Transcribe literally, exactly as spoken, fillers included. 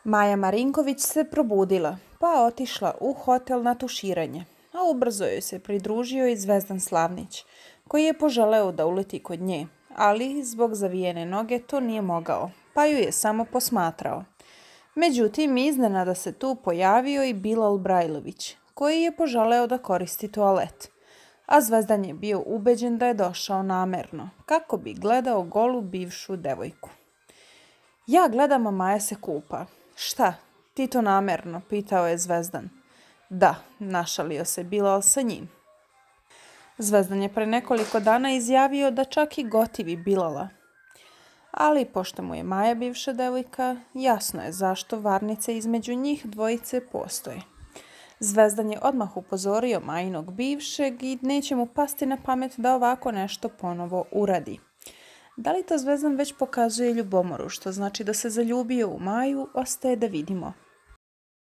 Maja Marinković se probudila, pa otišla u hotel na tuširanje, a ubrzo joj se pridružio i Zvezdan Slavnić, koji je poželeo da uleti kod nje, ali zbog zavijene noge to nije mogao, pa ju je samo posmatrao. Međutim, iznenada se tu pojavio i Bilal Brajlović, koji je poželeo da koristi toalet, a Zvezdan je bio ubeđen da je došao namerno, kako bi gledao golu bivšu devojku. Ja gledam, a Maja se kupa. Šta, ti to namerno, pitao je Zvezdan. Da, našalio se Bilal sa njim. Zvezdan je pre nekoliko dana izjavio da čak i gotivi Bilala. Ali pošto mu je Maja bivša devojka, jasno je zašto varnice između njih dvojice postoje. Zvezdan je odmah upozorio Majinog bivšeg i neće mu pasti na pamet da ovako nešto ponovo uradi. Da li to Zvezdan već pokazuje ljubomoru, što znači da se zaljubio u Maju, ostaje da vidimo.